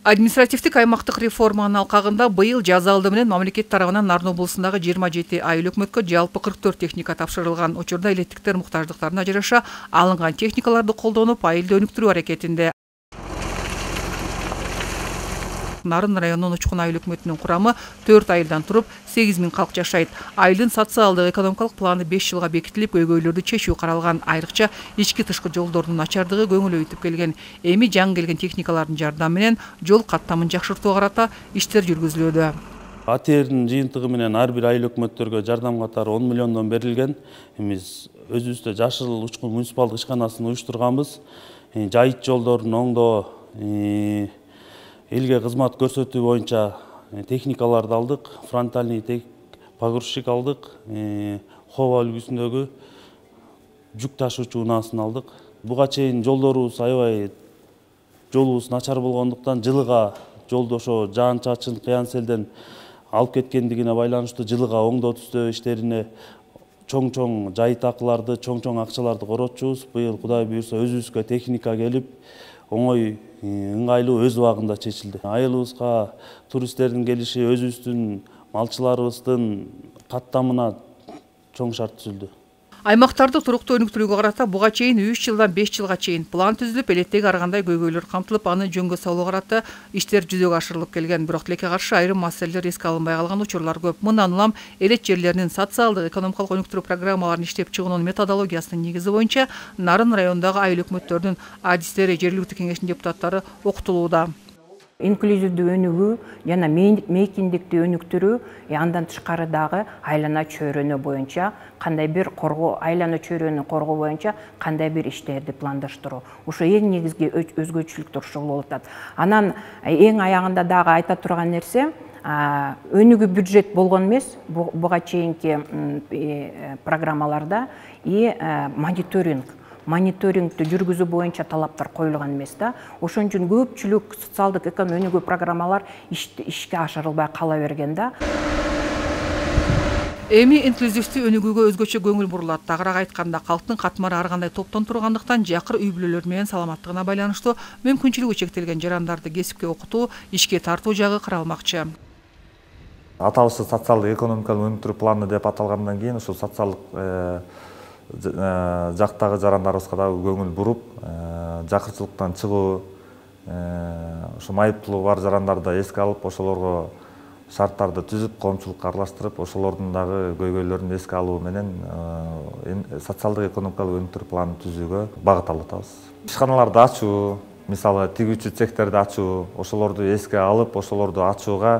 Административдик аймактык реформанын алкагында быйыл жаз алды менен мамлекет тарабынан Нарын облусундагы 27 айыл өкмөткө жалпы 44 техника тапшырылган. Учурда элеттиктер муктаждыктарына жараша алынган техникаларды колдонуп, айылды өнүктүрүү аракетинде. Нарын районунун Учкун айыл өкмөтүнүн курамы 4 айылдан туруп 8000 калк жашайт. Айылдын социалдык экономикалык планы 5 жылга бекитилип, көйгөйлөрдү чечүү каралган. Айрыкча ички тышкы жолдордун начардыгы көңүл өйтүп келген. Эми жаңы келген техникалардын жардамы менен жол каттамын жакшыртууга карата иштер жүргүзүлүүдө. АТРдин жыйынтыгы менен ар бир айыл өкмөттөргө жардам катары 10 миллиондон берилген. Биз өзүбүздө Жашыл Учкун муниципалдык ишканасын уюштурганбыз. Жайыт жолдорун оңдоо, элге кызмат көрсөтүү боюнча техникаларды алдык, фронтальный погрузчик алдык, Хова үлгүсүндөгү жүк ташуучу унаасын алдык. Буга чейин жолдорубуз аябай жолубуз начар болгондуктан жылыга жолду ошо жаан-чачын, кыян-селден алып кеткендигине байланыштуу жылыга оңдоо түзөө иштерине чоң жайыт акыларды, чоң акчаларды коротчубуз. Быйыл Кудай буйрса өзүбүзгө техника келип, оңой, ыңгайлуу өз убагында чечилди. Айылыбызга туристтердин келиши, өзүбүздүн малчыларыбыздын каттамына чоң шарт түзүлдү. Аймактарды туруктуу өнүктүрүүгө карата буга чейин 3 жылдан 5 жылга чейин план түзүлүп, элеттеги ар кандай көйгөйлөр камтылып, аны жөнгө салуу карата иштер жүзөгө ашырылып келген. Бирок тилекке каршы айрым маселелер эске алынбай калган учурлар көп. Мындан улам элет жерлеринин социалдык, экономикалык өнүктүрүү программаларын иштеп чыгуунун методологиясынын негизи боюнча Нарын районундагы айыл өкмөттөрүнүн адистери, жергиликтүү кеңештин депутаттары окутулууда. Инклюзивдүү өнүгүү жана мейкиндикти өнүктүрүү, андан тышкары дагы айлана чөйрөнү боюнча кандай бир коргоо, айлана чөйрөнү коргоо боюнча кандай бир иштерди пландаштыруу. Ошо эң негизги өзгөчөлүктөр ушул болуп атат. Анан эң аягында дагы айта турган нерсе, өнүгүү бюджет болгон эмес, буга чейинки программаларда мониторингти жүргүзүү боюнча талаптар коюлган эмес да. Ошон үчүн көпчүлүк социалдык экономикалык өнүгүү программалар ишке ашырылбай кала берген да. Эми инклюзивдүү өнүгүүгө өзгөчө көңүл бурулат. Тагыраак айтканда, калктын катмары ар кандай топтон тургандыктан, жакыр үй бүлөлөр менен саламаттыгына байланыштуу мүмкүнчүлүгү чектелген жарандарды кесипке окутуу, ишке тартуу жагы каралмакчы. Аталышы социалдык экономикалык өнүктүрүү планы деп аталгандан кийин, ошол социалдык жактагы жарандарыбызга дагы көңүл буруп, жакырчылыктан чыгуу, ошо майыптуулугу бар жарандарды эске алып, ошолорго шарттарды түзүп, коомчулукка аралаштырып, ошолордун дагы көйгөйлөрүн эске алуу менен социалдык экономикалык өнүктүрүү планын түзүүгө багыт алып атабыз. Ишканаларды ачуу, мисалы тигүүчү цехтерди ачуу, ошолорду эске алып, ошолорду ачууга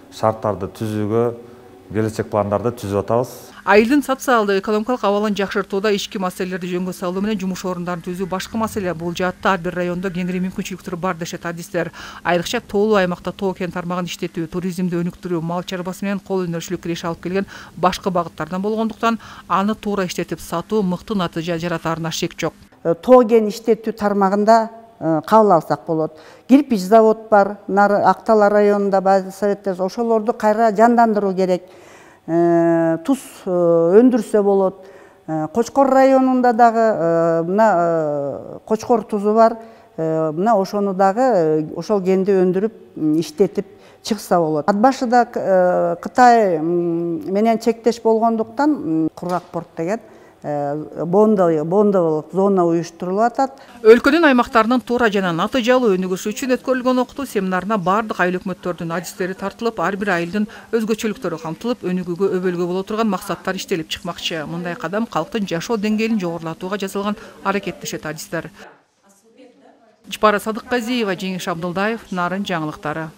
шарттарды түзүүгө келечек пландарды түзүп атабыз. Айылдын социалдык экономикалык абалын жакшыртууда ички маселелерди жөнгө салуу менен жумуш орундарын түзүү башкы маселе. Бул жаатта ар бир райондо кеңири мүмкүнчүлүктөр бар дешет адистер. Айрыкча тоолуу аймакта тоо кен тармагын иштетүү, туризмди өнүктүрүү, мал чарбасы менен кол өнөрчүлүк киреше алып келген башкы багыттардан болгондуктан, аны туура иштетип сатуу мыкты натыйжа жаратаарына шек жок. Тоо кен иштетүү тармагында кабыл алсак болот. Кирпич завод бар, Актала районунда баазы советтер, ошолорду кайра жандандыруу керек. Туз өндүрсө болот. Кочкор районунда дагы мына Кочкор тузу бар. Мына ошону дагы ошол кенди өндүрүп, иштетип чыкса болот. Ат башыда Кытай менен чектеш болгондуктан Кургак порт деген бондолук зона уюштурулуп атат. Өлкөнүн аймактарынын туура жана натыйжалуу өнүгүшү үчүн өткөрүлгөн окутуу семинарына бардык айыл өкмөттөрдүн адистери тартылып, ар бир айылдын өзгөчөлүктөрү камтылып, өнүгүүгө өбөлгө боло турган максаттар иштелип чыкмакчы. Мындай кадам калктын жашоо деңгээлин жогорулатууга жасалган аракет дешет адистер. Жапара Садыкказиева, Жеңиш Абдылдаев, Нарын жаңылыктары.